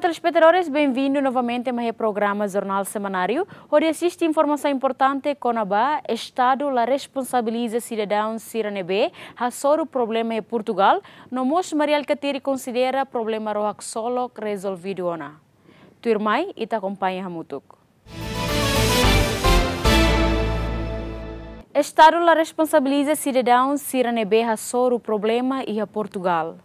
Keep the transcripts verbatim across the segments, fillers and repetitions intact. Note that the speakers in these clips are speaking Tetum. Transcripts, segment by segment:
Telespetadores, benvindu novamente mai iha programa Jornál Semanáriu, hodi asiste informasaun importante kona-ba Estadu la responsabiliza sidadaun sira ne'ebé hasoru problema iha Portugal, no mós Mari Alkatiri konsidera problema ró haksolok rezolvidu ona. Tuirmai, ita akompaña hamutuk. Estadu la responsabiliza sidadaun sira ne'ebé hasoru problema iha Portugal.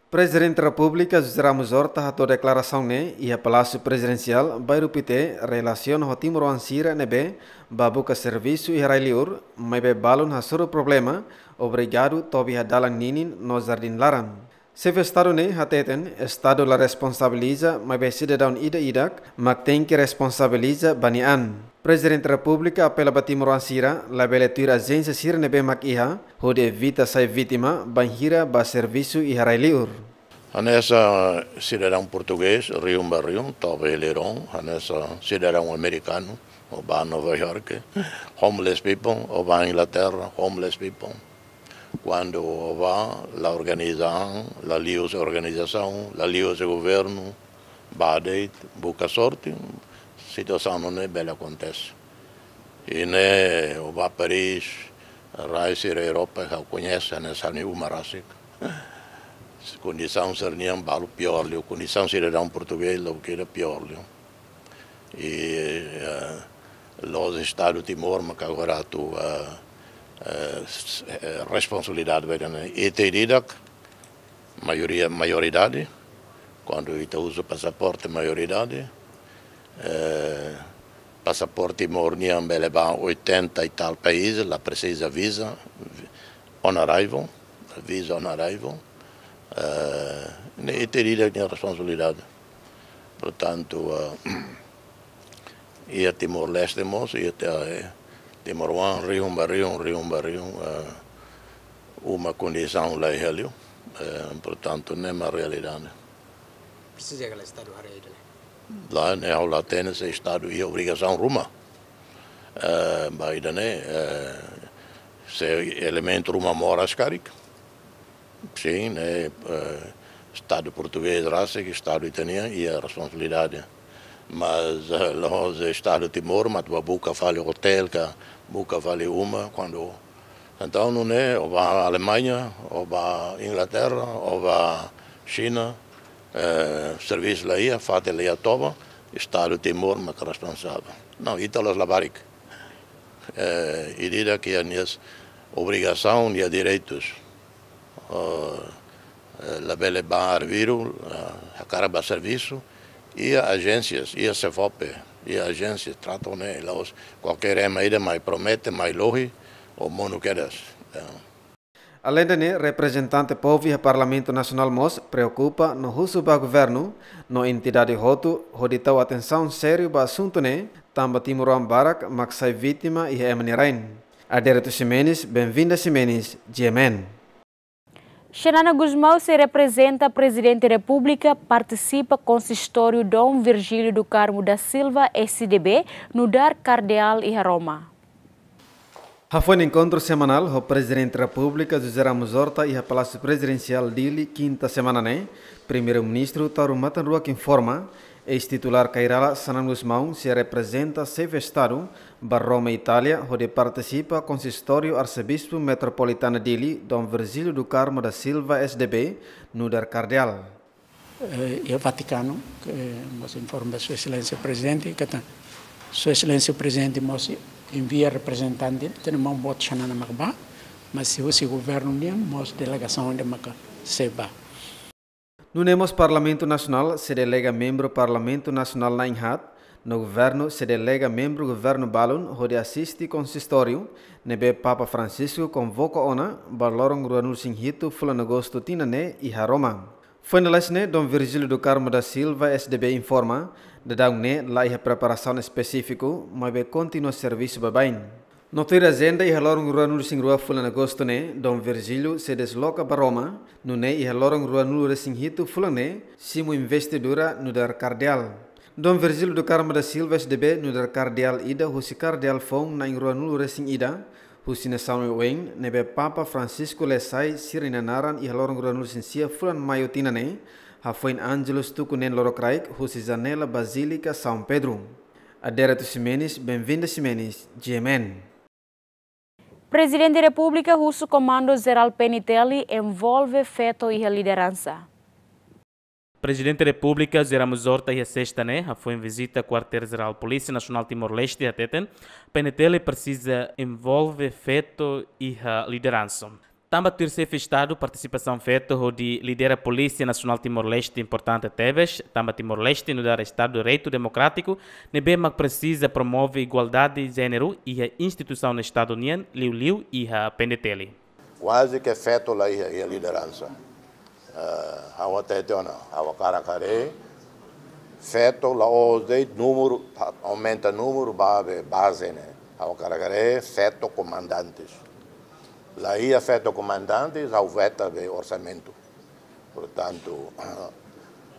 Prezidente Repúblika José Ramos Horta hato'o deklarasaun ne'e iha Palásiu Prezidensiál, Bairru Pité, relasiona ho timoroan sira ne'ebé bá buka servisu iha rai-liur, maibé balun hasoru problema, obrigadu tobi iha dalan ninin no jardín laran. Xefe Estadu ne'e hateten, Estadu la responsabiliza, maibé sidadaun ida-idak mak tenke responsabiliza ba nia an. Prezidente Repúblika apela ba timoroan sira, labele tuir ajénsia sira ne'ebé mak iha, hodi evita sai vítima bainhira bá servisu iha rai-liur. Hanesan sidadaun portugés, rihun ba rihun, toba iha liron, hanesan sidadaun amerikanu, ó bá Nova York, homeless people, ó bá Inglaterra, homeless people. Kuandu ó bá, la organiza an, la liuhusi organizasaun, la liuhusi governu, bá de'it, buka sorte, situasaun nune'e bele akontese. I ne'e, ó bá Paris, rai sira Europa, ha'u koñese, hanesan ha'u-nia uma rasik. Kondisaun sira-nian balu piór liu, kondisaun sidadaun portugés, loke ida piór liu. I, eh, la'ós Estadu Timor, mak agora atu, eh, eh, s-, eh, responsabilidade ba ida-ne'e. Ita ida-idak, maioria, maioridade, kuandu ita uza pasaporte maioridade, eh, pasaporte Timor nian bele bá oitenta e tal país, la presiza visa, vi-, on arrival, visa on arrival, eh, ne'e ita ida-idak nia responsabilidade. Portantu, eh, iha Timor-Leste mós, iha te-, eh, timoroan, rihun ba rihun, rihun ba rihun, eh, uma kondisaun la iha liu, eh, portantu, ne'e mak realidade. Presiza ka lae Estadu haree ida-ne'e? Lae, ne'e ha'u la hatene se Estadu iha obrigasaun ruma. Eh, ba ida-ne'e, eh, se elementu ruma moras karik. Sin, ne'e, eh, Estadu portugés rasik, Estadu ita-nian iha responsabilidade. Mas, eh, la'ós Estadu Timor mak atu bá buka fali otél ka buka fali uma, kuandu, entaun, nune'e, ó bá Alemaña, ó bá Inglaterra, ó bá Xina, eh, servisu la iha, fatin la iha toba, Estadu Timor mak responsavel. Não, ita la'ós labarik. Eh, ida-idak iha nia obrigasaun, nia direitus. Eh, eh, labele bá arbiru, eh, hakarak bá servisu, iha ajénsias, iha SEFOPE, iha ajénsias, trata ne'e, la'ós kualkér ema ida mai promete, mai lohi, ó monu kedas. Eh. Aleinde ne'e, reprezentante povu iha Parlamentu Nasionál mós preokupa no husu ba governu no entidade hotu hodi tau atensaun sériu ba asuntu ne'e, tanba timoroan barak mak sai vítima iha ema nia rain. Adérito Ximenes, Benvinda Ximenes, G M N. Xanana Gusmão sei reprezenta Prezidente Repúblika partisipa konsistóriu Dom Virgílio do Carmo da Silva, S D B, nu'udar kardeál iha Roma. Hafoin enkontru semanál ho Prezidente Repúblika José Ramos Horta iha Palásiu Prezidensiál Dili, kinta semana ne'e, Primeiru-Ministru Taur Matan Ruak informa, eis-titulár Kay Rala Xanana Gusmão sei reprezenta Xefe Estadu ba Roma, Itália, hodi partisipa Konsistóriu Arsebispu Metropolitana Dili, Dom Virgílio do Carmo da Silva, S D B, nu'udar kardeál. Eh, iha Vatikanu, ke mós informa Sua Exelénsia Prezidente, katak Sua Exelénsia Prezidente mós envia reprezentante, tenke maun-boot Xanana mak bá, mas se husi governu nian mós delegasaun ida maka sei bá. Nune'e mós Parlamentu Nasionál sei delega membru Parlamentu Nasionál na'in-haat, no governu sei delega membru governu balun hodi asiste konsistóriu ne'ebé Papa Francisco konvoka ona ba loron ruanulu-resin-hitu fulan Agostu tinan ne'e iha Roma. Foin lalais ne'e, Dom Virgílio do Carmo da Silva, S D B, informa, daudaun ne'e la iha preparasaun espesífiku, maibé kontinua servisu baibain. No tuir ajenda, iha loron ruanulu-resin-rua fulan Agostu ne'e, Dom Virgílio sei desloka ba Roma, nune'e iha loron ruanulu-resin-hitu fulan ne'e simu investidura nu'udar kardeál. Dom Virgílio do Carmo da Silva, S D B, nu'udar kardeál ida husi kardeál foun na'in ruanulu-resin-ida husi nasaun oioin ne'ebé Papa Francisco lee sai sira-nia naran iha loron ruanulu-resin-sia fulan Maiu tinan ne'e, Hafoin Angelus tuku neen lorokraik husi janela Bazílika São Pedro. Adérito Ximenes, Benvinda Ximenes, G M N. Prezidente Repúblika husu Komandu Jerál P N T L envolve feto iha lideransa. Prezidente Repúblika José Ramos Horta iha sesta ne'e hafoin vizita Kuartél Jerál Polísia Nasionál Timor-Leste hateten, P N T L presiza envolve feto iha lideransa. Tanba tuir Xefe Estadu, partisipasaun feto hodi lidera Polísia Nasionál Timor-Leste importante tebes, tanba Timor-Leste nu'udar Estadu de Direitu Demokrátiku, ne'ebé mak presiza promove igualdade jéneru iha instituisaun Estadu nian, liuliu iha P N T L. Kuaze ke feto la iha, iha lideransa. Eh, ha'u hatete ona, ha'u hakarak haree, feto la'ós de'it númeru, aumenta númeru ba be baze ne'e. Ha'u hakarak haree, feto komandantes. La iha feto komandantes, ha'u veta be orsamentu. Portantu,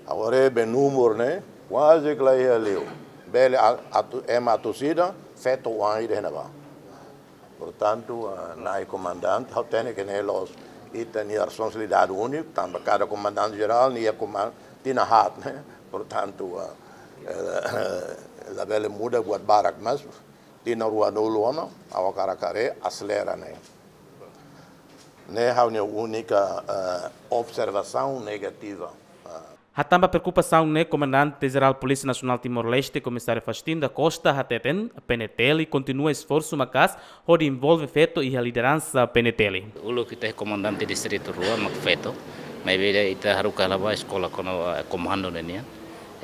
agora be númeru ne'e, kuaze ke la iha liu. Bele a-, atu, ema atu sida, feto oan ida iha ne'ebá. Portantu, ah, Na'i Komandante, ha'u hatene ke ne'e la'ós ita-nia responsabilidade úniku, tanba kada komandante jerál, nia koman-, tinan haat, ne'e. Portantu, ah, eh, labele muda buat barak, mas tinan ruanulu ona, ha'u hakarak haree, aselera ne'e. Ne'e ha'u-nia únika, eh, observasaun negativa. Ah. Hatán ba preokupasaun ne'e, Komandante Jerál Polísia Nasionál Timor-Leste, Komisáriu Faustino da Costa, hateten, P N T L kontinua esforsu maka'as hodi envolve feto iha lideransa P N T L. Uluk ita iha komandante distritu rua mak feto, maibé ita haruka hela ba eskola kona-ba komandu ne'e nian.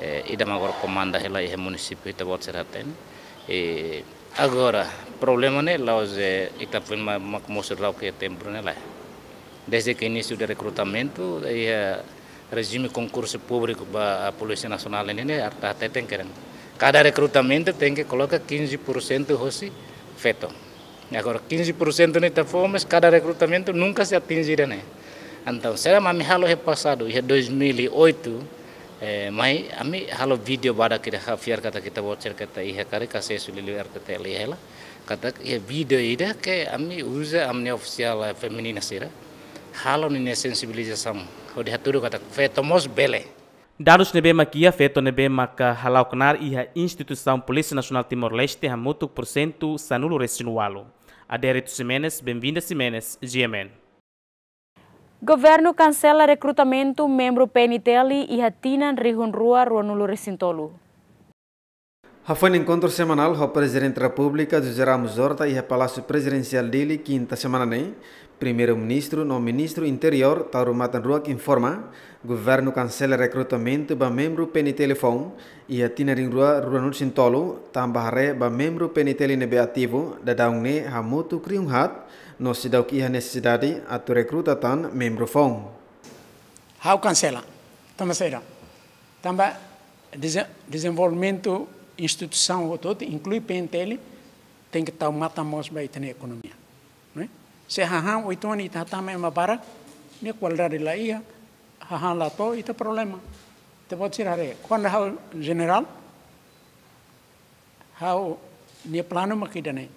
Eh, ida mak agora komanda hela iha munisípiu ita-boot sira hatene. Eh, agora, problema ne'e la'ós, eh, ita foin ma-, mak mosu rau ke tempu ne'e lae. Desde ke inísiu de rekrutamentu, iha rejime konkursu públiku ba Polísia Nasionál ne'e, ne'e ita hateten kedan. Kada rekrutamentu tenke koloka quinze por cento hosi feto. Agora, quinze por cento ne'e ita fó, mas kada rekrutamentu nunka sei atinje ida-ne'e. Entaun, se ami halo iha pasadu, iha dois mil e oito, eh, mai ami halo vídeo badak ida, ha'u fiar katak ita-boot sira katak iha karik asesu liuliu R T T L iha hela. Katak iha vídeo ida ke ami uza ami-nia ofisiál, eh, feminina sira. Halo ninia sensibilizasaun. Hodi hatudu katak feto mós bele. Dadus ne'ebé mak iha, feto ne'ebé maka hala'o knaar iha instituisaun Polísia Nasionál Timor-Leste hamutuk porsentu sanulu-resin-ualu. Adérito Ximenes, Benvinda Ximenes, G M N. Governu kansela rekrutamentu membru P N T L iha tinan rihun rua ruanulu-resin-tolu. Hafoin enkontru semanál ho Prezidente Repúblika José Ramos Horta iha Palásiu Prezidensiál Dili, kinta semana ne'e, Primeiru-Ministru no Ministru Interiór Taur Matan Ruak informa, governu kansela rekrutamentu ba membru P N T L foun iha tinan rihun rua ruanulu-resin-tolu, tanba haree ba membru P N T L ne'ebé ativu daudaun ne'e hamutuk rihun haat, no seidauk iha nesesidade atu rekruta tan membru foun. Ha'u kansela. Tanba saida? Tanba deze-, dezenvolvimentu instituisaun hotu-hotu, inklui P N T L, tenke tau matan mós ba ita-nia ekonomia. Ne'e? Se hahán oituan ita hatama ema barak, nia kualidade la iha, hahán la to'o, ita problema. Ita-boot sira haree, kuandu ha'u jenerál, ha'u-nia planu mak ida-ne'e.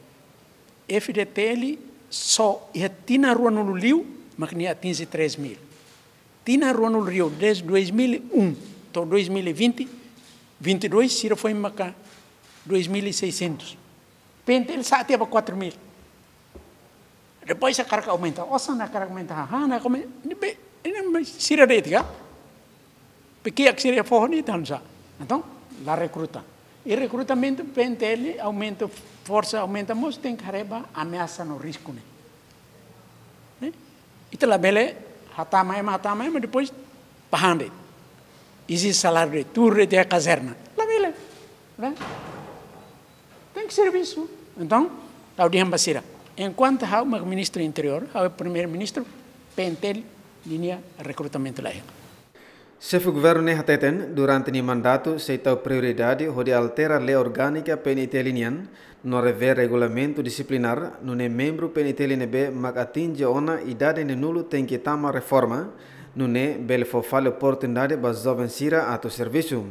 F D T L só iha tinan ruanulu liu mak nia atinje três mil. Tinan ruanulu liu, desde dois mil e um to'o dois mil e vinte, vinte e dois, sira foin maka dois mil e seiscentos. P N T L sa'e tiha ba quatro mil. Depois hakarak aumenta, osan hakarak aumenta, hahán hakarak aumenta, ne'ebé, ne'e sira de'it ka? Pekiak sira fó ne'e ita nusá. Entaun, la rekruta. I rekrutamentu P N T L aumenta, forsa aumenta, mós tenke haree ba ameasa no risku ne'e. Ne'e? Ita labele hatama ema, hatama ema, depois pahande. Ezije saláriu de'it, tuur de'it iha kazerna. Labele. Ne'e? Tenke servisu. Entaun, ha'u dehan ba sira. Enkuantu ha'u mak Ministru Interiór, ha'u Primeiru-Ministru, P N T L ninia rekrutamentu la iha. Xefe Governu ne'e hateten, durante nia mandatu sei tau prioridade hodi altera lei orgánika P N T L nian, no revee regulamentu disiplinár, nune'e membru P N T L ne'ebé mak atinje ona idade neenulu tenke tama reforma, nune'e bele fó fali oportunidade ba joven sira atu servisu.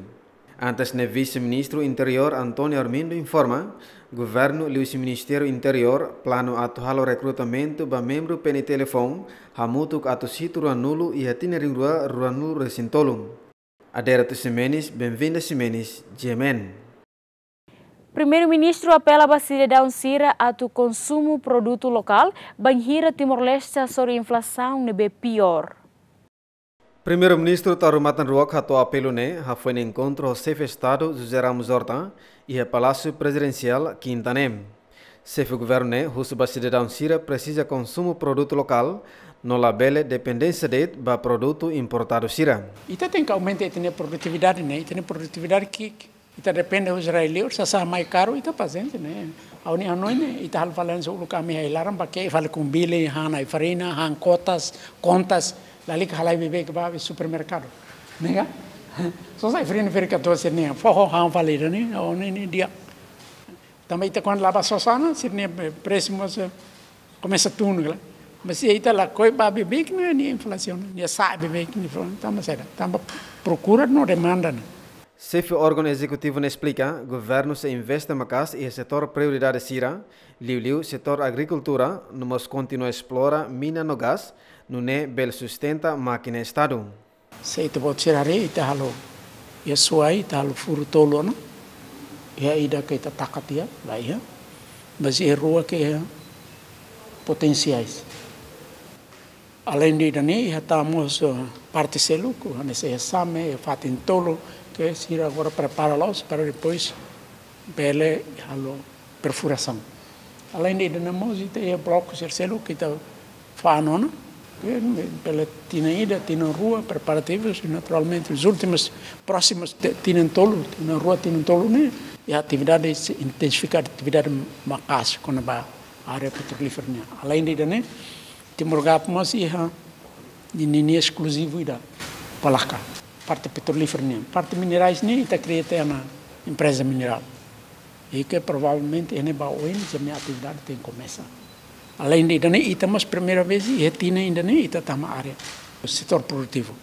Antes ne'e, Vise-Ministru Interiór António Armindo informa, governu liuhusi Ministériu Interiór planu atu halo rekrutamentu ba membru P N T L foun, hamutuk atus hitu ruanulu iha tinan rihun rua ruanulu resin tolu. Adérito Ximenes, Benvinda Ximenes, G M N. Primeiru-Ministru apela ba sidadaun sira atu konsumu produtu lokál, bainhira Timor-Leste hasoru inflasaun ne'ebé piór. Primeiru-Ministru Taur Matan Ruak hato'o apelu ne'e hafoin enkontru ho Xefe Estadu José Ramos Horta iha Palásiu Prezidensiál, Kinta ne'e. Xefe Governu ne'e husu ba sidadaun sira presiza konsumu produtu lokál, no labele dependénsia de'it ba produtu importadu sira. Ita tenke aumenta ita-nia produtividade ne'e, ita-nia produtividade ki'ik, ita depende husi rai-liur, sasán mai karu, ita pasiénsia ne'e. Ha'u-nia hanoin ne'e, ita halo fali hanesan uluk ami iha ai-laran, bá ke'e fali kumbili, han ai-farina, han kotas, kontas, lalika halai beibeik ba iha supermerkadu. Ne'e ka? Só sai fali fali-fali katorze ne'e, foho han fali ida-ne'e, ha'u hanoin ne'e di'ak. Tanba ita kuandu la bá sosa ona, sira-nia presu mós, eh, komesa tun, klaru. Mas se ita lakohi bá beibeik ne'e, nia inflasaun, nia sa'e beibeik, nia inflasaun, tanba saida? Tanba prokura no demanda ne'e. Xefe órgaun ezekutivu ne'e esplika, governu sei investe maka'as iha setór prioridade sira, liuliu setór agrikultura, no mós kontinua esplora mina no gás, nune'e bele sustenta mákina Estadu. Se ita-boot sira haree, ita halo iha Suai, ita halo furu tolu ona. Iha ida ke ita taka tiha, laiha. Mas iha rua ke iha potensiais. Além de ida-ne'e, iha tan mós, eh, parte seluk, hanesan iha Same, iha fatin tolu, ke sira agora prepara la'ós, para depois bele halo perfurasaun. Além de ida-ne'e mós, ita iha bloku sira seluk ke ita fa'an ona, ke bele tinan ida, tinan rua, preparativus, e naturalmente, os últimos, próximos, te-, tinan tolu, tinan rua, tinan tolu ne'e, iha atividade, sei intensifika atividade maka'as kona-ba área petrolífera nian. Além de ida-ne'e, Timor Gap mós iha ninia eskluzivu ida, Palaka. Parte petrolífera nian. Parte minerais ne'e ita kria tiha ona empreza minerál. I ke provavelmente iha ne'ebá oin ninia atividade tenke komesa. Além de ida-ne'e, ita mós primeira vez iha tinan ida-ne'e ita tama área setór produtivu.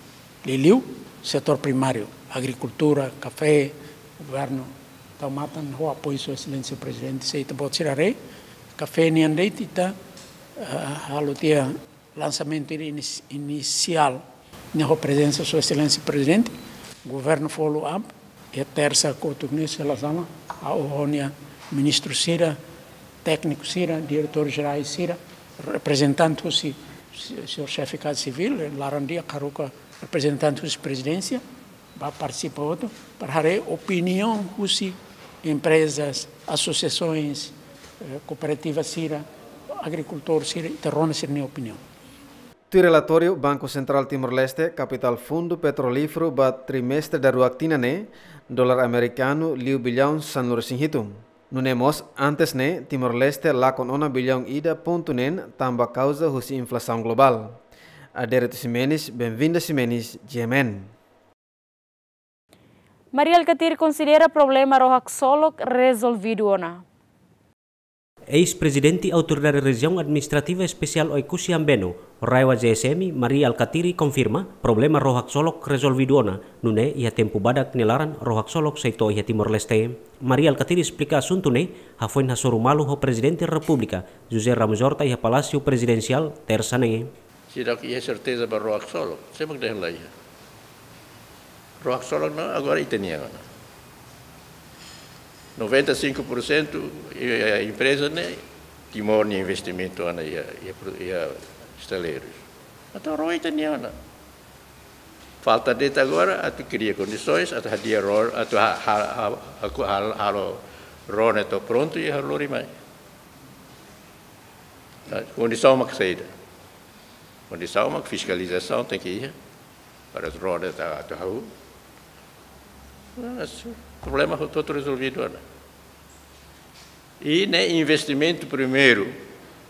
Liuliu setór primáriu, agrikultura, kafé, governu tau matan ho apoiu Sua Exelénsia Prezidente, se ita-boot sira haree, kafé nian de'it ita, eh, halo tiha lansamentu ida inis-, inisiál, ne'e ho prezensa Sua Exelénsia Prezidente, governu follow up, iha tersa kotuk ne'e sei la sala, ha'u ho nia ministru sira, tékniku sira, diretór jerais sira, reprezentante husi, si-, señór Xefe Kaza Sivíl, laran di'ak haruka reprezentante husi Prezidénsia, bá partisipa hotu, para haree opiniaun husi emprezas, asosiasoens, eh, kooperativa sira, agrikultór sira, ita rona sira-nia opiniaun. Tuir relatóriu Banku Sentrál Timor-Leste, kapitál fundu petrolíferu ba trimestre daruak tinan ne'e, dolar amerikanu liu billaun sanulu-resin-hitu. Nune'e mós, antes ne'e, Timor-Leste lakon ona billaun ida pontu neen tanba kauza husi inflasaun globál. Adérito Ximenes, Benvinda Ximenes, G M N. Mari Alkatiri konsidera problema ró-haksolok rezolvidu ona. Eis-Prezidente Autoridade Rejiaun Administrativa Espesiál Oekusi Ambeno, RAEOA-G S M, Mari Alkatiri konfirma, problema ró-haksolok rezolvidu ona, nune'e iha tempu badak nia laran ró-haksolok sei to'o iha Timor-Leste. Mari Alkatiri esplika asuntu ne'e hafoin hasoru malu ho Prezidente Repúblika, José Ramos Horta, iha Palásiu Prezidensiál, tersa ne'e. Seidauk iha serteza ba ró-haksolok, sé mak dehan la iha. Ró-haksolok ne'e agora ita-nian ona. Noventa e cinco por cento, eh, empreza ne'e Timor nia investimentu ona iha, iha pro-, iha estaleirus. Entaun ró ita-nian ona. Falta de'it agora atu kria kondisoens, atu hadi'a ró, atu ha-, ha-, ha-, ha-, ha-, halo ró ne'e to'o prontu i halo lori mai. Nah, kondisaun mak saida? Kondisaun mak fiskalizasaun tenke iha, para ró ne'e atu, atu hahú. Nah, su-, problema hotu-hotu rezolvidu ona. I ne'e investimentu primeiru,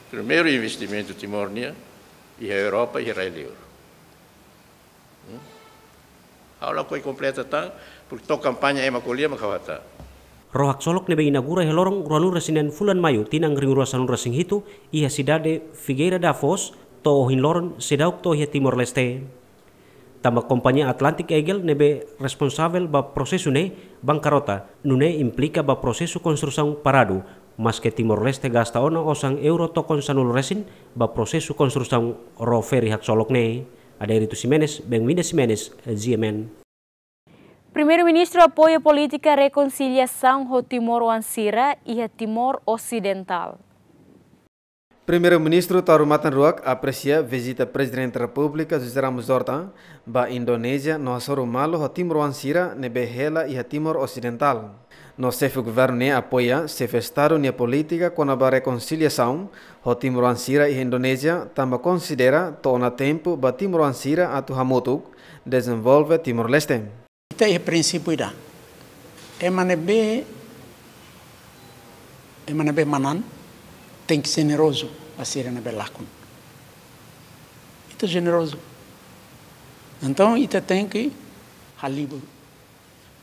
primeiru investimentu Timor nian, iha Europa, iha rai-liur. Hmm? Ha'u lakohi kompleta tan, porque to'o kampaña ema ko'alia mak ha'u hatán. Ró-haksolok ne'ebé inaugura iha loron ruanulu-resin-neen fulan Maiu tinan rihun rua sanulu-resin-hitu iha sidade Figueira da Foz, to'o ohin loron seidauk to'o iha Timor-Leste. Tanba kompañia Atlantic Eagle ne'ebé responsavel ba prosesu ne'e, Bankarota, nune'e implika ba prosesu konstrusaun paradu, maske Timor-Leste gasta ona osan euro tokon sanulu resin ba prosesu konstrusaun ró feri haksolok ne'e. Adérito Ximenes, Benvinda Ximenes, G M N. Primeiru-Ministru apoia polítika rekonsiliasaun ho timoroan sira iha Timor Osidentál. Primeiru-Ministru Taur Matan Ruak apresia vizita Prezidente Repúblika José Ramos Horta ba Indonézia no hasoru malu ho timoroan sira ne'ebé hela iha Timor Osidentál. No xefe governu ne'e apoia xefe Estadu nia polítika kona-ba rekonsiliasaun ho timoroan sira iha Indonézia, tanba konsidera to'o ona tempu ba timoroan sira atu hamutuk dezenvolve Timor-Leste. Ita iha prinsípiu ida. Ema ne'ebé, ema ne'ebé manán tenke jenerozu ba sira ne'ebé lakon. Ita jenerozu. Entaun, ita tenke halibur.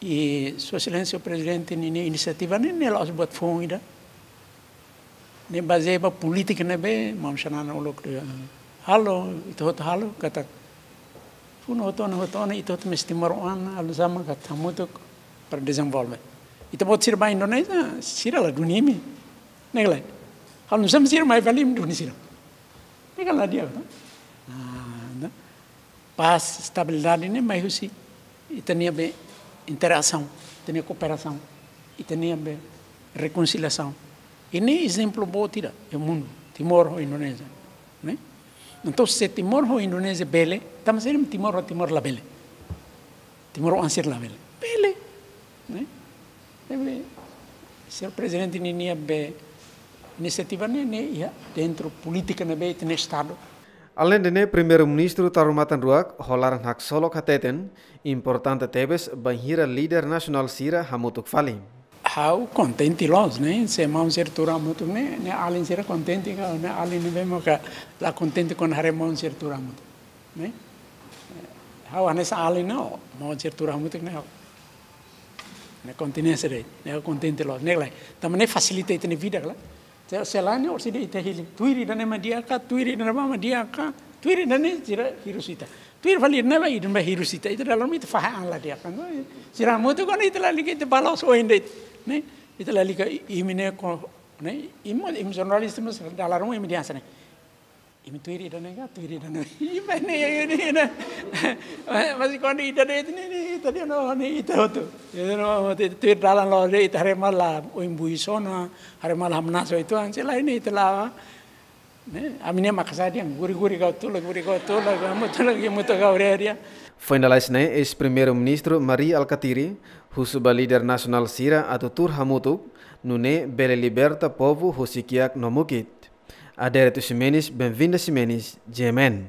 I Sua Exelénsia Prezidente ninia inisiativa ne'e, ne'e la'ós buat foun ida. Ne'e bazeia ba polítika ne'ebé maun Xanana uluk dehan, halo, ita hotu halo, katak funu hotu ona, hotu ona, ita hotu mós timoroan, halo sama katak hamutuk para dezenvolve. Ita-boot sira ba Indonézia, sira la duni imi. Ne'e ka lae? Halo sama sira mai fali imi duni sira. Ne'e ka lae di'ak, no? Ah, no? Pás, estabilidade ne'e mai husi ita-nia be interasaun, ita-nia kooperasaun, ita-nia be rekonsiliasaun. I ne'e ezemplu boot ida iha mundu, Timor ho Indonézia, ne'e? Entaun, se Timor ho Indonézia bele, tanba saida Timor ho Timor labele? Timoroan sira labele? Bele, ne'e? Ne'ebé, Señór Prezidente ninia be inisiativa ne'e, ne'e iha dentru polítika ne'ebé ita-nia Estadu. Aleinde ne'e, Primeiru-Ministru Taur Matan Ruak ho laran haksolok hateten, importante tebes bainhira líder nasionál sira hamutuk fali. Ha'u kontente loos, ne'e, se maun sira tuur hamutuk ne'e, ne'e alin sira kontente ka, ne'e alin ne'ebé maka la kontente kuandu haree maun sira tuur hamutuk, ne'e? Ha'u hanesan alin ne'e, maun sira tuur hamutuk ne'e, ha'u. Ne'e kontinente de'it, ne'e kontente loos, ne'e ka lae. Tanba ne'e fasilita ita-nia vida ka lae. Se, se lae ne'e orsida ita hili. Tuir ida-ne'e mak di'ak ka, tuir ida-ne'ebá mak di'ak ka, tuir ida-ne'e sira hirus ita. Tuir fali ida-ne'ebá, ida-ne'ebá hirus ita. Ita dalam ita fahe an la di'ak ka. Sira hamutuk kuandu ita lalika ita bá loos oin de'it. Ne'e, ita lalika i-, imi ne'e ko, ne'e, imi, imi jornalista mós dala ruma imi dehan hanesan ne'e. Imi tuir ida-ne'e ka, tuir ida-ne'e. Imi ne'e, imi ne'e. Mas kuandu ida de'it ne'e, ne'e, ita dehan no, ne'e, ita hotu. Ita no, ita tuir dalan loos de'it, ita haree malu oin buis ona, haree malu hamnasa uitoan, se lae ne'e, ita la'o. Ne'e, ami-nia makasadia, guri-guri kau tula, guri kau tula, kau mutula, kau mutu kau reria. Foin lalais ne'e, eis-Primeiru-Ministru Mari Alkatiri husu ba líder nasionál sira atu tuur hamutuk, nune'e bele liberta povu husi kiak no mukit. Adérito Ximenes, Benvinda Ximenes, G M N.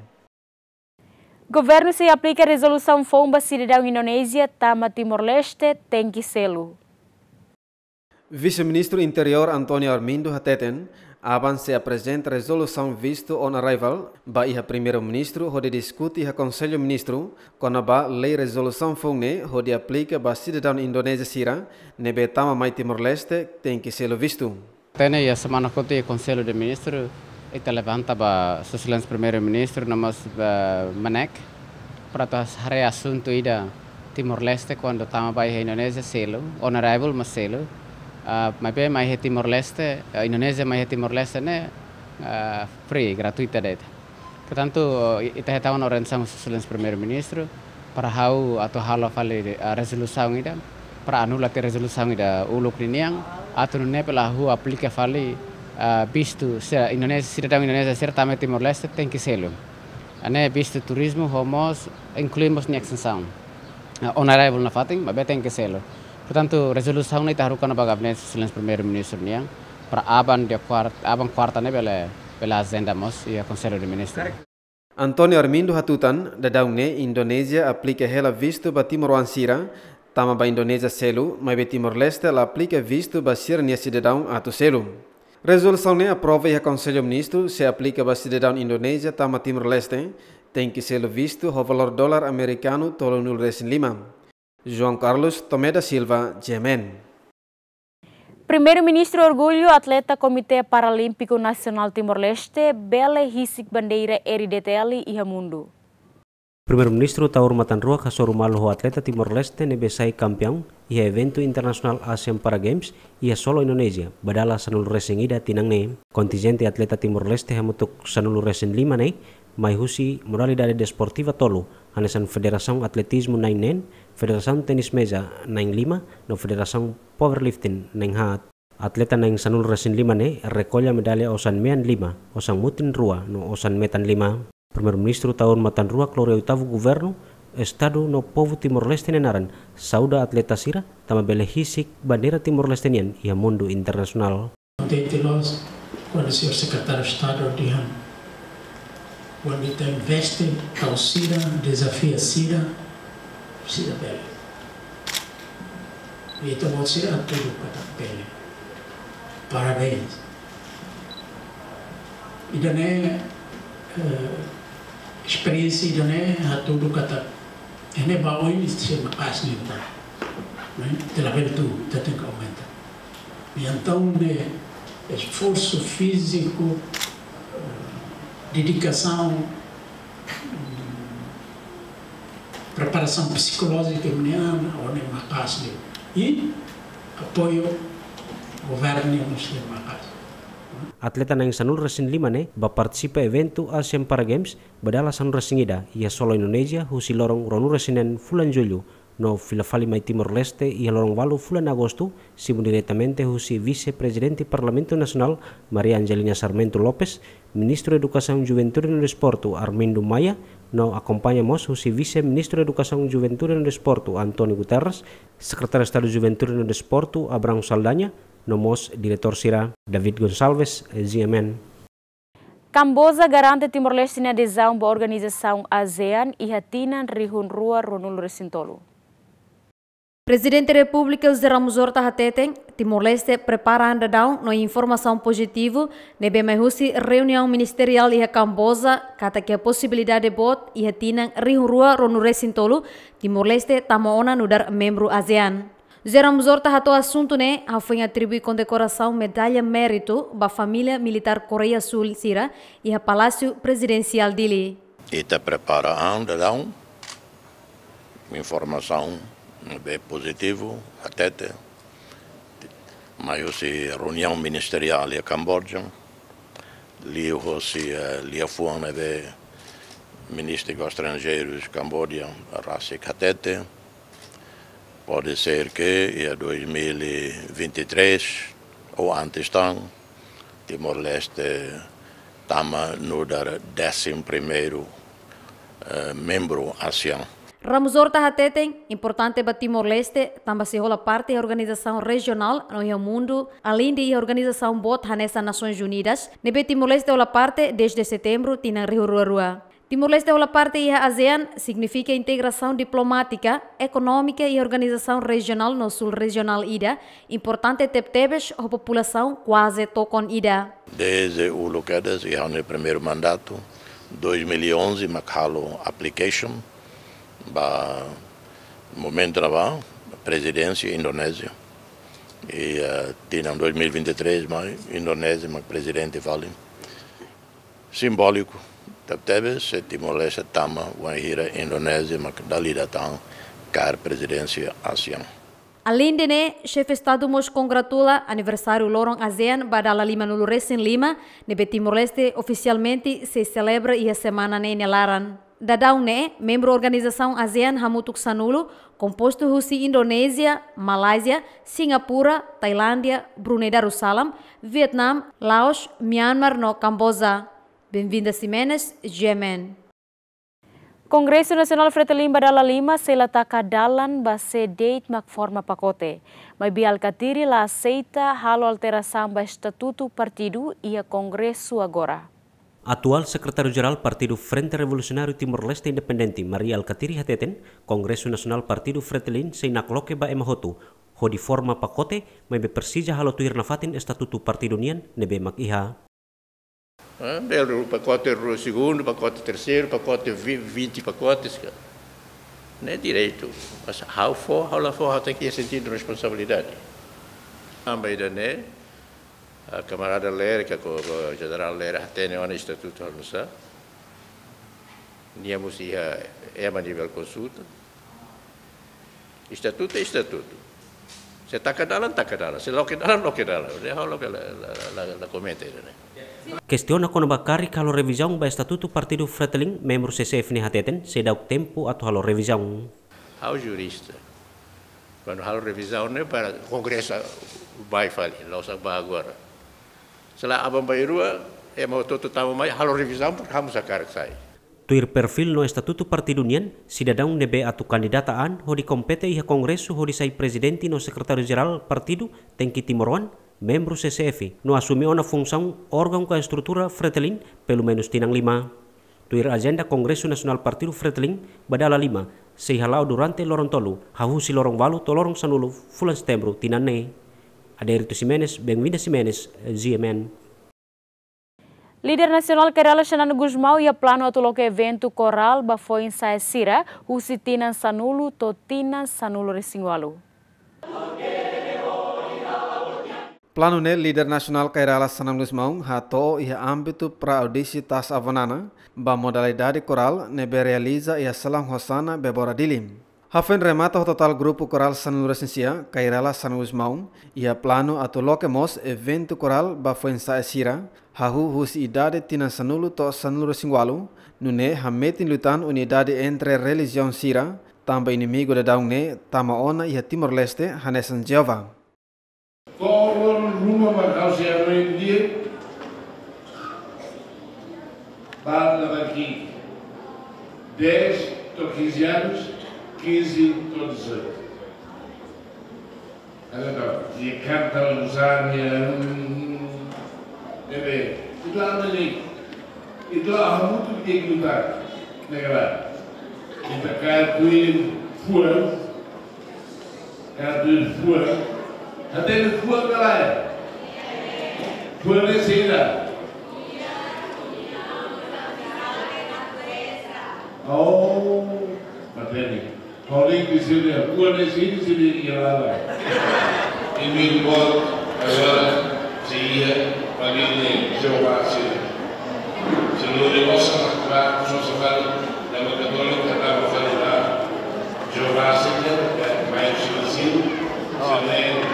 Governu sei aplika rezolusaun foun ba sidadaun Indonézia tama Timor-Leste tenke selu. Vise-Ministru Interiór António Armindo hateten, aban sei aprezenta rezolusaun visto on arrival ba iha Primeiru-Ministru hodi diskute iha Konsellu Ministru kona-ba lei rezolusaun foun ne'e hodi aplika ba sidadaun Indonézia sira ne'ebé tama mai Timor-Leste tenke selu vistu. Tene iha semana kotuk iha Konsellu de Ministru, ita levanta ba Sua Exelénsia Primeiru-Ministru, no mós ba MNEK, para atu haree asuntu ida Timor-Leste kuandu tama ba iha Indonézia selu, on arrival mak selu, ah, maibé mai iha Timor-Leste, ah, Indonézia mai iha Timor-Leste ne'e, ah, free, gratuita de'it. Portantu, i-, ita hetan ona orientasaun husi Sua Exelénsia Primeiru-Ministru, para ha'u atu halo fali, ah, rezolusaun ida, para anula tiha rezolusaun ida uluk ninian, atu nune'e bele hahú aplika fali, ah, vistu, se Indonézia, sidadaun Indonézia sira tama Timor-Leste tenke selu. Ne'e vistu turizmu, ho mós, inklui mós nia estensaun. Ah, on arrival nafatin, maibé tenke selu. Portantu, rezolusaun ne'e ita haruka ona ba gabinete Sua Exelénsia Primeiru-Ministru nian, para aban dia kuart-, aban kuarta ne'e bele, bele ajenda mós iha Konsellu de Ministru. António Armindo hatutan, daudaun ne'e Indonézia aplika hela vistu ba timoroan sira tama ba Indonézia selu, maibé Timor-Leste la aplika vistu ba sira-nia sidadaun atu selu. Rezolusaun ne'e aprova iha Konsellu Ministru, se aplika ba sidadaun Indonézia tama Timor-Leste, tenke selu vistu ho valór dolar amerikanu tolunulu-resin-lima. João Carlos Tomé da Silva, G M N. Primeiru-Ministru orgullu atleta Komité Paralímpiku Nasionál Timor-Leste bele hisik bandeira R D T L iha mundu. Primeiru-Ministru Taur Matan Ruak hasoru malu ho atleta Timor-Leste ne'ebé sai kampiaun iha eventu internasionál ASEAN Para Games iha Solo, Indonézia, ba dala sanulu-resin-ida tinan ne'e. Kontinjente atleta Timor-Leste hamutuk sanulu-resin-lima ne'e mai husi modalidade desportiva tolu, hanesan Federasaun Atletizmu na'in neen, Federasaun Tenis Meza na'in lima, no Federasaun Powerlifting na'in haat. Atleta na'in sanulu-resin-lima ne'e rekolla medalla osan mean lima, osan mutin rua, no osan metan lima. Primeiru-Ministru tahun matan rua klori oitavu Governu, Estadu no povu Timor-Leste nia naran, saúda atleta sira, tanba bele husik bandeira Timor-Leste nian iha mundu internasionál. Kontente loos, kuandu señór Sekretáriu Estadu dehan, kuandu ita investe, tau sira, dezafia sira, sira bele. I ita-boot sira hatudu katak bele. Parabéns. Ida-ne'e, eh, esperiénsia ida-ne'e hatudu katak, ne'e ba oin ita sei maka'as liután. Ne'e? Ita labele tuun, ita tenke aumenta. I entaun, ne'e, esforsu fíziku, eh, dedikasaun, mm, preparasaun psikolójika nian, ne'e maka'as liu. I apoiu governu nian mós ne'e maka'as. Atleta na'in sanulu-resin-lima ne'e ba partisipa eventu ASEAN Para Games ba dala sanulu-resin-ida iha Solo, Indonézia, husi loron ruanulu-resin-neen fulan Jullu, no fila fali mai Timor-Leste iha loron ualu fulan Agostu, simu diretamente husi Vise-Prezidente Parlamentu Nasionál Maria Angelina Sarmento Lopes, Ministru Edukasaun, Juventude no Desportu Armindo Maia, no akompaña mós husi Vise-Ministru Edukasaun, Juventude no Desportu António Guterres, Sekretáriu Estadu Juventude no Desportu Abrão Saldanha, no mós diretór sira. David Gonçalves, G M N. Kamboja garante Timor-Leste nia adezaun ba organizasaun ASEAN iha tinan rihun rua ruanulu-resin-tolu. Prezidente Repúblika José Ramos Horta hateten, Timor-Leste prepara an daudaun no informasaun pozitivu ne'ebé mai husi reuniaun ministeriál iha Kamboja, katak iha posibilidade boot iha tinan rihun rua ruanulu-resin-tolu, Timor-Leste tama ona nu'udar membru ASEAN. José Ramos Horta hato'o asuntu ne'e hafoin atribui kondekorasaun Medalla Méritu ba família militár Koreia Súl sira iha Palásiu Prezidensiál Dili. Ita prepara an daudaun, informasaun ne'ebé pozitivu, hatete, mai husi reuniaun ministeriál iha Kamboja, liuhosi, eh, liafuan ne'ebé Ministru Estranjeirus Kamboja rasik hatete, pode ser ke iha dois mil e vinte e três ou antes tan, Timor-Leste tama nu'udar désimu primeiru, eh, membru ASEAN. Ramos Horta hateten, importante ba Timor-Leste, tanba sei hola parte iha organizasaun rejionál no iha mundu, aleinde iha organizasaun boot hanesan Nasoins Unidas, ne'ebé Timor-Leste hola parte dezde setembru tinan rihun rua rua. Timor-Leste hola parte iha ASEAN signifika integrasaun diplomátika, ekonómika i organizasaun rejionál no sul-rejionál ida, importante tebetebes ho populasaun kuaze tokon ida. Dezde uluk kedas, iha ha'u-nia primeiru mandatu, dois mil e onze, mak halo application ba momentu ne'ebá prezidénsia Indonézia. I, eh, tinan dois mil e vinte e três mai, Indonézia mak prezidente fali. Simbóliku tebetebes, se Timor-Leste tama wainhira Indonézia mak dala ida tan kaer prezidénsia ASEAN. Aleinde ne'e, Xefe Estadu mós kongratula aniversáriu loron ASEAN ba dala limanulu-resin-lima, ne'ebé Timor-Leste ofisialmente sei selebra iha semana ne'e nia laran. Daudaun ne'e, membru organizasaun ASEAN hamutuk sanulu, kompostu husi Indonézia, Malázia, Singapura, Tailándia, Brunei Darussalam, Vietnam, Laos, Myanmar no Kamboja. Benvinda Ximenes, G M N. Kongresu Nasionál Fretilin ba dala lima sei la taka dalan ba sé de'it mak forma pakote. Maibé Alkatiri la aseita halo alterasaun ba estatutu partidu iha Kongresu agora. Atuál Sekretáriu-Jerál Partidu Frente Revolusionáriu Timor-Leste Independente, Mari Alkatiri hateten, Kongresu Nasionál Partidu Fretilin sei nakloke ba ema hotu, hodi forma pakote, maibé presiza halo tuir nafatin estatutu partidu nian ne'ebé mak iha. Eh, bele pakote rua segundu, pakote terseiru, pakote vi-, vinte pakotes ka. Ne'e direitu. Mas ha'u fó, ha'u la fó, ha'u tenke iha sentidu responsabilidade. Tanba ida-ne'e, ah, kamarada Lere, ka ko, ko Jenerál Lere, hatene ona estatutu halo nu'usá. Nia mós iha ema nivel konsulta. Estatutu é estatutu. Se taka dalan, taka dalan. Se loke dalan, loke dalan. Ne'e ha'u la, la, la, la, la komenta ida-ne'e. Kestiona kona-ba karik halo revizaun ba estatutu partidu Fretilin, membru C C F ne'e hateten, seidauk tempu atu halo revizaun. Ha'u jurista. Kuandu halo revizaun ne'e para kongresu bá fali, la'ós bá agora. Se la aban-bainrua, ema hotu-hotu tama mai, halo revizaun, porke ha'u mós hakarak sai. Tuir perfíl no estatutu partidu nian, sidadaun ne'ebé atu kandidata an hodi kompete iha kongresu hodi sai prezidente no sekretáriu jerál partidu tenke timoroan, membru C C F, no asume ona funsaun órgaun ka estrutura Fretilin pelumenus tinan lima. Tuir ajenda Kongresu Nasionál Partidu Fretilin ba dala lima, sei hala'o durante loron tolu, hahú husi loron ualu to'o loron sanulu fulan Setembru tinan ne'e. Adérito Ximenes, Benvinda Ximenes, G M N. Líder nasionál Kay Rala Xanana Gusmão iha planu atu loke eventu korál ba foin-sa'e sira husi tinan sanulu to'o tinan sanulu-resin-ualu. Planu ne'e líder nasionál Kay Rala Xanana Gusmão hato'o iha ámbitu pré-audisi Taas Avanana ba modalidade korál ne'ebé realiza iha Salaun Hossana Bebora Dili. Hafoin remata ho totál grupu korál sanulu-resin-sia, Kay Rala Xanana Gusmão iha planu atu loke mós eventu korál ba foin-sa'e sira, hahú husi idade tinan sanulu to'o sanulu-resin-ualu, nune'e hametin liután unidade entre relijiaun sira, tanba inimigu daudaun ne'e tama ona iha Timor-Leste hanesan Jeová. To'o loron ruma mak ha'u sei hanoin di'ak, ba dala barak, dez to'o quinze anos, quinze to'o dezoito. Agora, e canta usania, bebé, itu apa nih? Itu apa mutu dia lutar, negara. Kita kaya tuin fuan, kaya tuin fuan. Até no fuan galera. Fuan é sira. Oh, mateni. Paulinho de Silveira, rua de Cid, Cid e Yalala. E meu irmão, agora, seria família Jeová, Cid. Se não, eu vou só para, só, só para, na minha católica, estava a falar, Jeová, Cid, é, mas, Cid, Cid, Cid, Cid.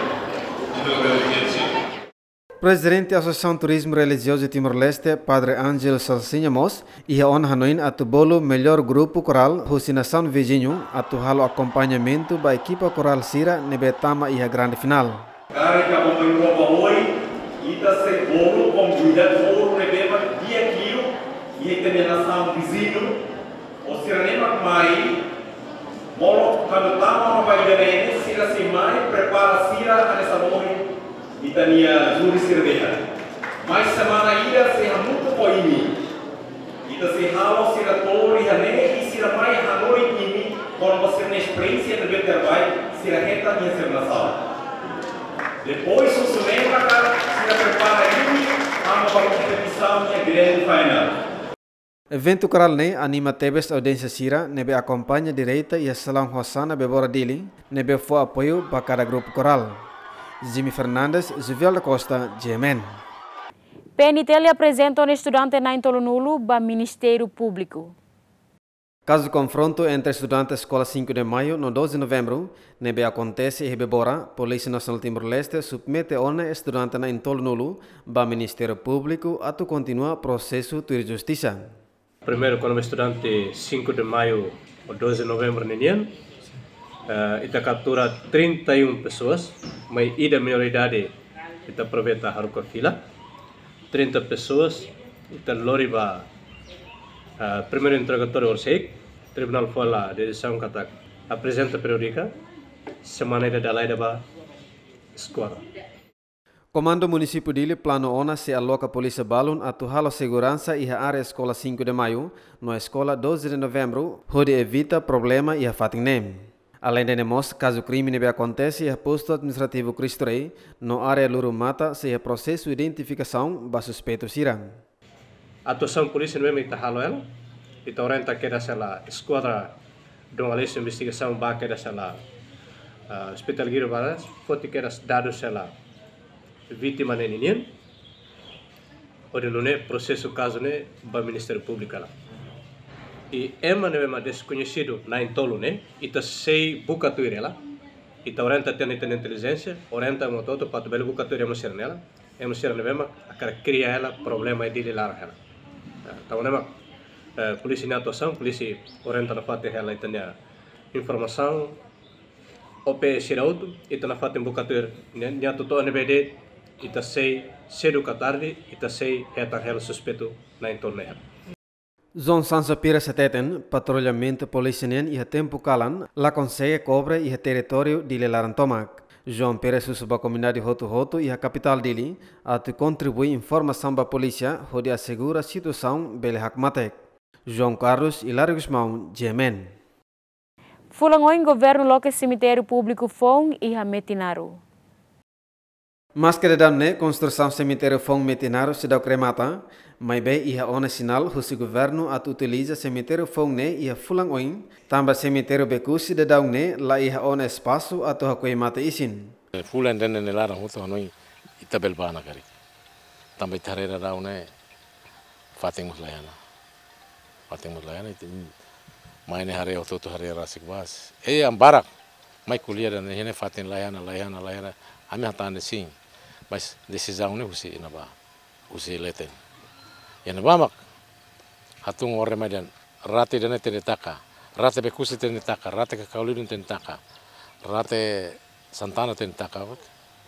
Prezidente Asosiasaun Turizmu Relijiozu Timor-Leste, Padre Ángel Salsinha mós, iha ona hanoin atu bolu mellór grupu korál husi nasaun viziñu atu halo akompañamentu ba ekipa korál sira ne'ebé tama iha grande finál. Karik ka bom roupa oi, ita sei bolu konvida kór ne'ebé mak di'ak liu iha ita-nia nasaun viziñu, ou sira-ne'e mak mai, molok kuandu tama ona ba ida-ne'e, sira sei mai prepara sira hanesan ohin ita-nia júri sira dehan. Mai semana ida sei hamutuk ho imi. Ita sei halo sira to'o iha ne'e i sira mai hanorin imi kona-ba sira-nia esperiénsia ne'ebé terbaik sira hetan iha sira-nia nasaun. Depois, husi ne'e maka sira prepara imi, hama ba kompetisaun iha grand final. Eventu korál ne'e anima tebes audiénsia sira ne'ebé akompaña direta iha Salaun Hossana Bebora Dili, ne'ebé fó apoiu ba kada grupu korál. Jimmy Fernandes, Juvial da Costa, G M N. P N T L aprezenta ona estudante na'in-tolunulu ba Ministériu Públiku. Kazu konfrontu entre estudante Eskola Cinco de Maio no doze de Novembro, ne'ebé akontese iha Bebora, Polísia Nasionál Timor-Leste submete ona estudante na'in-tolunulu ba Ministériu Públiku atu kontinua prosesu tuir justisa. Primeiru, kona-ba estudante Cinco de Maio ou doze de Novembro ninian, eh, ita kaptura trinta e um pessoas, mai ida menoridade, ita aproveita haruka fila. Trinta pessoas, ita lori ba, eh, primeiru interrogatóriu horisehik, tribunál fó hela desizaun katak aprezenta periódika, semana ida dala ida ba eskola. Komandu Munisípiu Dili planu ona sei aloka polísia balun atu halo seguransa iha área Eskola Cinco de Maio no Eskola doze de Novembro, hodi evita problema iha fatin ne'e. Aleinde ne'e mós, kazu krime ne'ebé akontese iha Postu Administrativu Cristo Rei no área Luru Mata sei iha prosesu identifikasaun ba suspeitu sira. Atuasaun polísia ne'ebé mak ita halo hela, ita orienta kedas hela eskuadra Dom Aleixo investigasaun ba kedas hela, ah, Hospital Guido Barros, foti kedas dadus hela vítima ne'e ninian, hodi nune'e prosesu kazu ne'e ba Ministériu Públiku hela. I ema ne'ebé mak deskoñesidu na'in-tolu ne'e, ita sei buka tuir hela, Ita orienta tiha ita-nia intelijénsia, orienta ema hotu-hotu para atu bele buka tuir ema sira ne'e, ema sira ne'ebé mak hakarak kria hela problema iha Dili laran hela. Ya, entaun ne'e mak, eh, polísia nia atuasaun, polísia orienta nafatin hela ita-nia informasaun, O P sira hotu, ita nafatin buka tuir, nia, nia atu to'o ne'ebé de'it, ita sei sedu ka tarde, ita sei hetan hela suspeitu na'in-tolu ne'e hela. João Sancho Pires hateten, patrullamentu polísia nian iha tempu kalan la konsege kobre iha territóriu Dili laran tomak. João Pires husu ba komunidade hotu-hotu iha kapitál Dili atu kontribui informasaun ba polísia hodi asegura situasaun bele hakmatek. João Carlos, Hilário Gusmão, G M N. Fulan oin governu loke semitériu públiku foun iha Metinaro. Maske daudaun ne'e konstrusaun semitériu foun Metinaro seidauk remata, maibé iha ona sinál husi governu atu utiliza semitériu foun ne'e iha fulan oin, tanba semitériu Becusse daudaun ne'e la iha ona espasu atu hakoi mate-isin. Fulan ida-ne'e nia laran hotu hanoin ita bele bá ona karik. Tanba ita haree daudaun ne'e fatin mós la iha ona. Fatin mós la iha ona, ita mai ne'e haree hotu-hotu haree rasik bas. E an barak mai ko'alia dehan ne'e fatin la iha ona, la iha ona, la iha ona. Ami hatán dehan sin. Mas desizaun ne'e husi ne'ebá, husi leten. Iha ne'ebá mak hatún orden mai dehan rate ida-ne'e tenke taka, rate Becusse tenke taka, rate Cacau Ledo tenke taka, rate Santana tenke taka,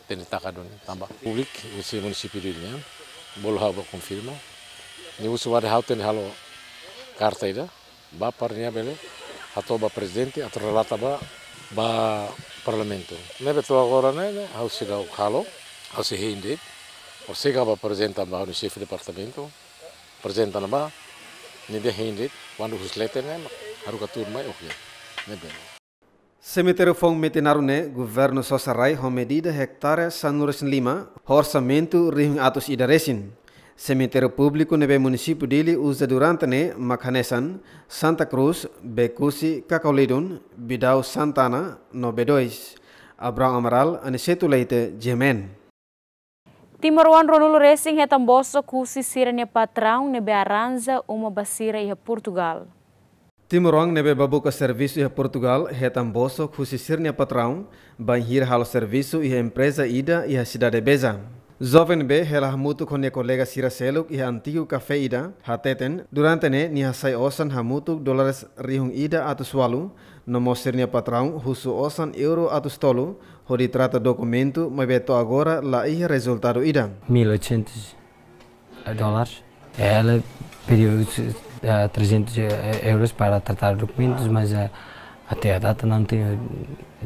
tenke taka duni, tanba publik husi munisípiu Dili nian, bolu ha'u bá konfirma. Nia husu wainhira ha'u tenke halo karta ida, bá para nia bele hato'o ba prezidente atu relata ba, ba parlamentu. Ne'ebé to'o agora ne'e, ne'e, ha'u seidauk halo, ha'u sei hein de'it, ha'u sei bá aprezenta ba ha'u-nia xefe departamentu, aprezenta ona ba, nia dehan hein de'it, kuandu husi leten ne'e, haruka tuur mai, oke. Ne'ebé. Semitériu foun Metinaro ne'e, governu sosa rai ho medida ektare sanulu-resin-lima, ho orsamentu rihun atus ida resin. Semitériu públiku ne'ebé munisípiu Dili uza durante ne'e mak hanesan Santa Cruz, Becusse, Cacau Ledo, Bidau, Santana, no B dois. Abrão Amaral, Aniceto Leite, G M N. Timoroan ruanulu resin hetan bosok husi sira-nia patraun ne'ebé arranja uma ba sira iha Portugal. Timoroan ne'ebé bá buka servisu iha Portugal hetan bosok husi sira-nia patraun, bainhira halo servisu iha empreza ida iha sidade Beja. Joven ne'ebé hela hamutuk ho nia kolega sira seluk iha antigu kafé ida, hateten, durante ne'e nia hasai osan hamutuk dólares rihun ida atus ualu, no mós sira-nia patraun husu osan euro atus tolu, hodi trata dokumentu, maibé to'o agora la iha rezultadu ida. Mil oitocentos dólares. Ela pediu, eh, trezentos euros para tratar documentos, mas, eh, até a data não tenho,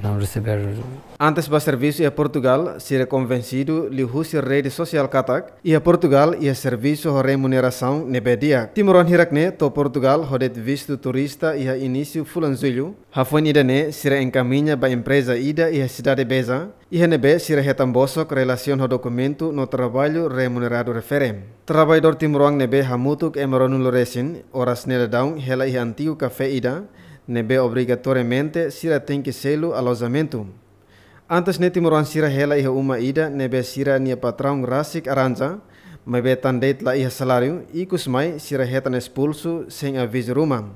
não receberam. Antes bá servisu iha Portugal, sira konvensidu liuhusi rede sosiál katak, iha Portugal iha servisu ho remunerasaun ne'ebé di'ak. Timoroan hirak ne'e to'o Portugal ho de'it vistu turista iha inísiu fulan Jullu. Hafoin ida-ne'e sira enkamiña ba empreza ida iha sidade Beja, iha ne'ebé sira hetan bosok relasiona ho dokumentu no traballu remuneradu refere. Traballadór timoroan ne'ebé hamutuk ema ruanulu resin, oras ne'e daudaun hela iha antigu kafé ida, ne'ebé obrigatoriamente sira tenke selu alojamentu. Antes ne'e timoroan sira hela iha uma ida ne'ebé sira-nia patraun rasik arranja, maibé tan de'it la iha saláriu, ikus mai sira hetan espulsu sein avizu ruma.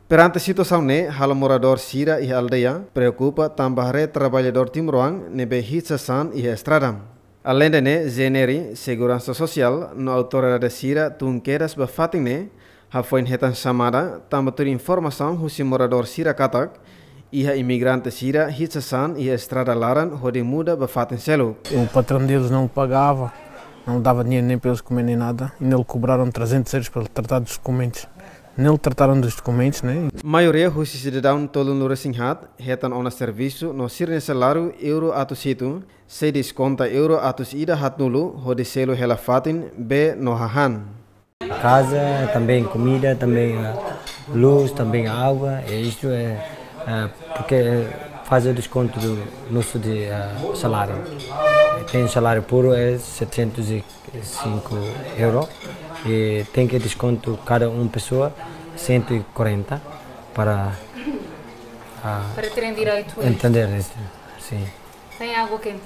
Perante situasaun ne'e, halo moradór sira iha aldeia preokupa tanba haree traballadór timoroan ne'ebé hit sasán iha estrada. Aleinde ne'e, GNR, Seguransa Sosiál no autoridade sira tun kedas ba fatin ne'e, hafoin hetan xamada, tanba tuir informasaun husi moradór sira katak, iha imigrante sira hit sasán iha estrada laran hodi muda ba fatin seluk. O patrão deles não pagava, não dava dinheiro nem para eles comer nem nada. Ainda lhe cobraram trezentos euros para tratar dos documentos. Nem lhe trataram dos documentos, né? Maioria husi sidadaun tolunulu-resin-haat hetan ona servisu no sira-nia saláriu euro atus hitu, sei deskonta euro atus ida haatnulu hodi selu hela fatin bee no hahán. Casa, também comida, também, ah, luz, também água. E isto é, ah, porque faz o desconto do nosso de, ah, salário. Tem salário puro é setecentos e cinco euro e tem que desconto cada um pessoa cento e quarenta para, ah, Para terem direito a isto. Entender isto. Sim. Tem água quente.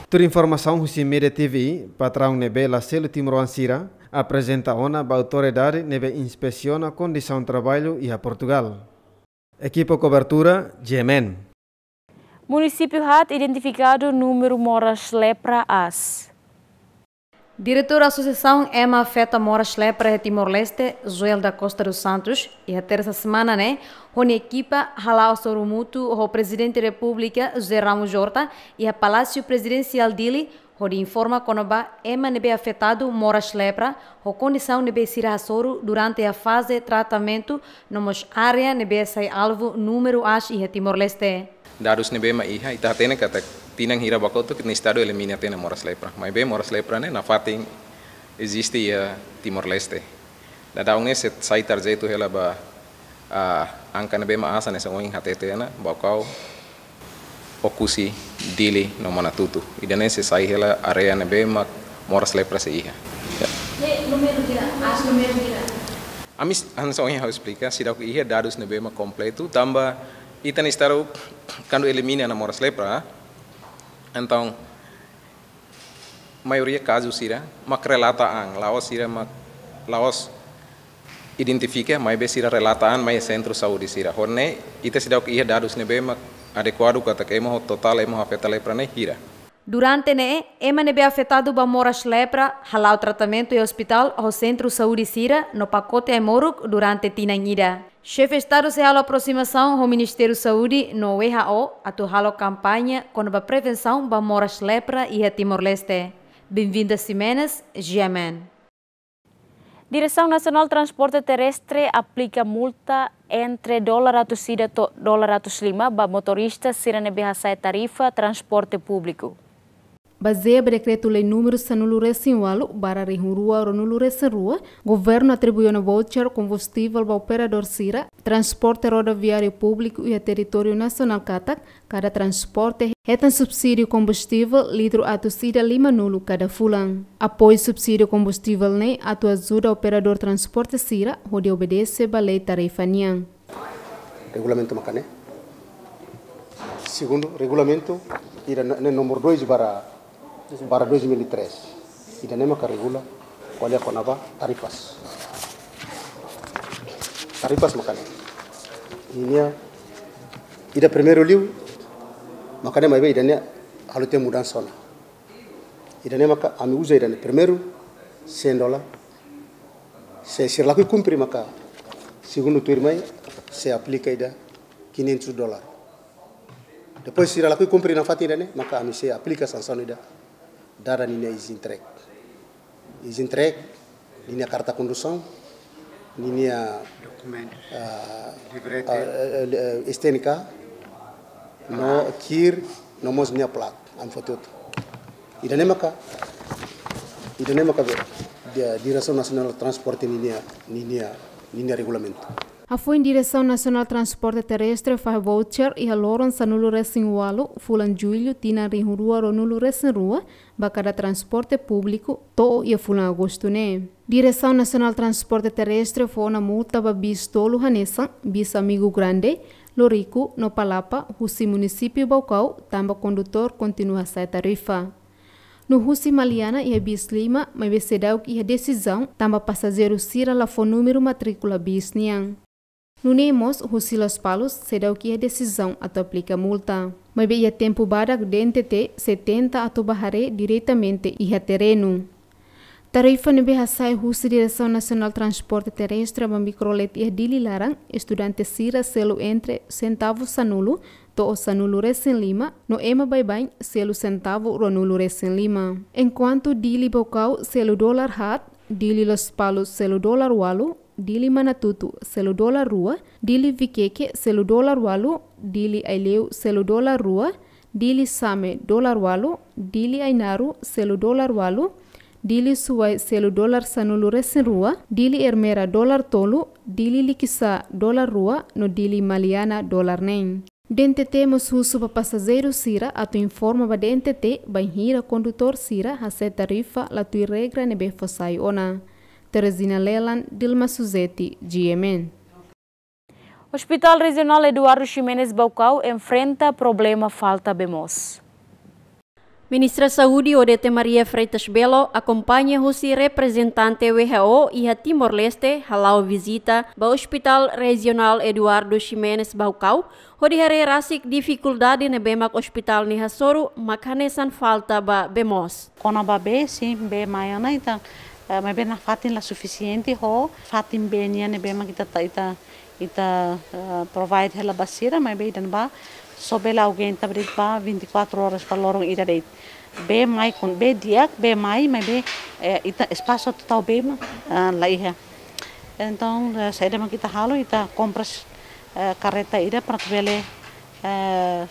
Tuir informasaun husi Média T V, patraun ne'ebé la selu timoroan sira aprezenta ona ba autoridade ne'ebé inspesiona kondisaun traballu iha Portugal. Ekipa kobertura, G M N. Munisípiu haat identifikadu númeru moras lepra aas. Diretór Asosiasaun Ema Afeta Moras Lepra iha Timor-Leste, Joel da Costa dos Santos, iha tersa semana ne'e, ho nia ekipa hala'o hasoru mútuu ho Prezidente Repúblika, José Ramos Horta, iha Palásiu Prezidensiál Dili, hodi informa kona-ba ema ne'ebé afetadu moras lepra, ho kondisaun ne'ebé sira hasoru durante iha faze tratamentu, no mós área ne'ebé sai alvu númeru aas iha Timor-Leste. Dadus ne'ebé mak iha, ita hatene katak tinan hira ba kotuk ita-nia estadu elimina tiha ona moras lepra. Maibé moras lepra ne'e nafatin eziste iha Timor-Leste. Daudaun ne'e sei sai tarjetu hela ba, ah, angka ne'ebé mak aas hanesan ohin hatete ona, Baucau, Oekusi, Dili, no Manatuto. Ida-ne'e sei sai hela área ne'ebé mak moras lepra sei iha. Ya. Ne'e númeru hira, aas númeru hira. Ami s-, hanesan ohin ha'u esplika, seidauk iha dadus ne'ebé mak kompletu, tanba ita-nia estadu kuandu elimina ona moras lepra, entaun maioria kazu sira mak relata an, la'ós sira mak, la'ós identifika, maibé sira relata an mai sentru saúde sira. Ho ne'e, ita seidauk iha dadus ne'ebé mak adekuadu katak ema ho totál ema ho afeta lepra ne'e hira. Durante ne'e, ema ne'ebé afetadu ba moras lepra hala'o tratamentu iha ospitál ho sentru saúde sira no pakote ai-moruk durante tinan ida. Xefe Estadu sei halo aprosimasaun ho Ministériu Saúde no W H O atu halo kampaña kona-ba prevensaun ba moras lepra iha Timor-Leste. Benvinda Ximenes, G M N. Diresaun Nasionál Transporte Terrestre aplika multa entre dólar atus ida to'o dólar atus lima ba motorista sira ne'ebé hasa'e tarifa transporte públiku. Bazeia ba Dekretu-Lei númeru sanulu-resin-ualu barra rihun rua ruanulu-resin-rua, Governu atribui ona voucher kombustivel ba operadór sira transporte rodoviáriu públiku iha territóriu nasionál katak, kada transporte hetan subsídiu kombustivel litru atus ida limanulu kada fulan. Apoiu subsídiu kombustivel ne'e atu ajuda operadór transporte sira hodi obedese ba lei tarifa nian. Regulamentu maka ne'e. Segundu, regulamentu ida ne'e, ne'e númeru dois barra, barra dois mil e três. Ida-ne'e maka regula ko'alia kona-ba tarifas. Tarifas maka ne'e. Ninia, ida primeiru liu maka ne'e, maibé ida-ne'e halo tiha mudansa ona. Ida-ne'e maka ami uza ida-ne'e primeiru cem dólar. Se sira lakohi kumpre maka segundu tuirmai sei aplika ida quinhentos dólar. Depois sira lakohi kumpre nafatin ida-ne'e maka ami sei aplika sansaun ida dada ninia izintrek. Izintrek, ninia karta kondusaun, ninia dokumentu, ah, librete, ah, eh, eh, S T N K, no kir, no mós ninia plat, ami foti hotu. Ida-ne'e maka, ida-ne'e maka be, dia, Diresaun Nasionál Transporte ninia, ninia, ninia regulamentu. Hafoin Diresaun Nasionál Transporte Terrestre fahe voucher iha loron sanulu-resin-ualu fulan Jullu tinan rihun rua ruanulu-resin-rua ba kada transporte públiku to'o iha fulan Agostu ne'e. Diresaun Nasionál Transporte Terrestre fó ona multa ba bis tolu hanesan bis Amigo Grande, Loriku no Palapa husi munisípiu Baucau tanba kondutór kontinua hasa'e tarifa. No husi Maliana iha bis lima, maibé seidauk iha desizaun tanba pasajeiru sira la fó númeru matríkula bis nian. Nune'e mós husi Lospalos seidauk iha desizaun atu aplika multa. Maibé iha tempu badak D N T T sei tenta atu bá haree diretamente iha terrenu. Tarifa ne'ebé hasa'e husi Diresaun Nasionál Transporte Terrestre ba mikrolet iha Dili laran, estudante sira selu entre sentavu sanulu to'o sanulu-resin-lima, no ema baibain selu sentavu ruanulu-resin-lima. Enkuantu Dili Baucau selu dólar haat, Dili Lospalos selu dólar ualu, Dili Manatuto selu dólar rua, Dili Viqueque selu dólar ualu, Dili Aileu selu dólar rua, Dili Same dólar ualu, Dili Ainaro selu dólar ualu, Dili Suai selu dólar sanulu-resin-rua, Dili Ermera dólar tolu, Dili Likisá dólar rua, no Dili Maliana dólar neen. D N T T mós husu ba pasajeiru sira atu informa ba D N T T bainhira kondutór sira hasa'e tarifa la tuir regra ne'ebé fó sai ona. Teresina Lelan, Dilma Suzeti, G M N. Hospital Rejionál Eduardo Ximenes Baucau enfrenta problema falta bee moos. Ministra Saúde Odete Maria Freitas Belo akompaña husi reprezentante W H O iha Timor-Leste hala'o vizita ba Hospital Rejionál Eduardo Ximenes Baucau, hodi haree rasik difikuldade ne'ebé mak ospitál ne'e hasoru mak hanesan falta ba bee moos. Kona-ba bee, sin, bee mai ona, entaun, eh, maibé nafatin la sufisiente ho fatin bee nian ne'ebé mak ita, ita, ita, eh, provide hela ba sira, maibé ida-ne'ebá só bele aguenta ba de'it ba vinte e quatro horas ba loron ida de'it. Bee mai kon, bee di'ak, bee mai, maibé, eh, ita espasu atu tau bee mak, eh, la iha. Entaun, eh, saida mak ita halo, ita kompras, eh, karreta ida para atu bele, eh,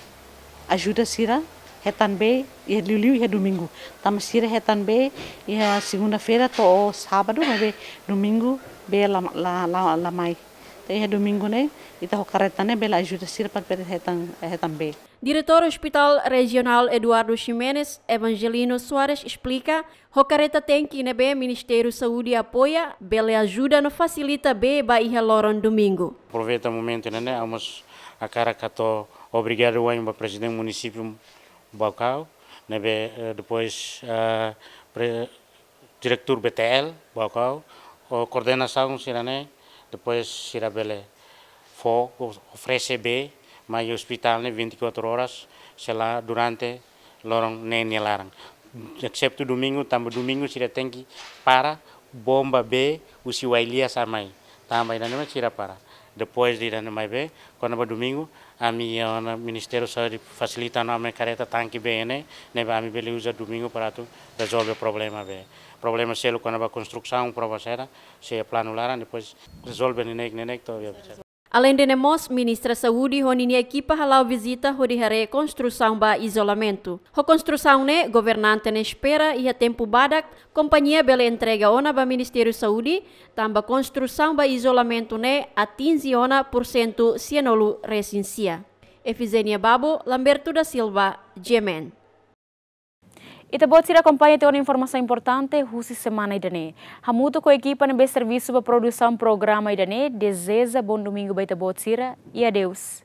ajuda sira hetan bee iha liuliu iha domingu. Tanba sira hetan bee iha segunda-feira to'o sábadu, maibé domingu bee la, la, la, la mai. Entaun iha domingu ne'e, ita ho karreta ne'e bele ajuda sira para bele hetan, hetan bee. Diretór Hospital Rejionál Eduardo Ximenes, Evangelino Soares, esplika, ho karreta tenke ne'ebé Ministériu Saúde apoia, bele ajuda no fasilita bee ba iha loron domingu. Aproveita momentu ne'e, ne'e, ha'u hakarak hato'o obrigadu wa'in ba Prezidente Munisípiu Baucau, ne'ebé, eh, depois, eh, pre-, Diretór B T L Baucau, ho koordenasaun sira-ne'e, depois sira bele fó, o-, oferese bee mai ospitál ne'e vinte e quatro horas, sei la durante loron ne'e nia laran. Exetu domingu, tanba domingu sira tenke para bomba bee husi Wailías mai. Tanba ida-ne'e mak sira para. Depois de ida-ne'e maibé, kona-ba domingu, ami iha ona Ministériu Saúde fasilita ona ami karreta tanke bee ne'e, ne'ebé ami bele uza domingu para atu rezolve problema bee. Problema seluk kona-ba konstrusaun, problema saida, sei planu laran, depois rezolve neineik, neineik to'o iha. Aleinde ne'e mós, Ministra Saúde ho ninia ekipa hala'o vizita hodi haree konstrusaun ba izolamentu. Ho konstrusaun ne'e, governante ne'e espera iha tempu badak, kompañia bele entrega ona ba Ministériu Saúde, tanba konstrusaun ba izolamentu ne'e atinje ona pursentu sianulu resin sia. Efizenia Babo, Lamberto da Silva, G M N. Ita-boot sira akompaña tiha ona informasaun importante husi semana ida-ne'e. Hamutuk ho ekipa ne'ebé servisu ba produsaun programa ida-ne'e, dezeja bom domingu ba ita-boot sira, i adeus.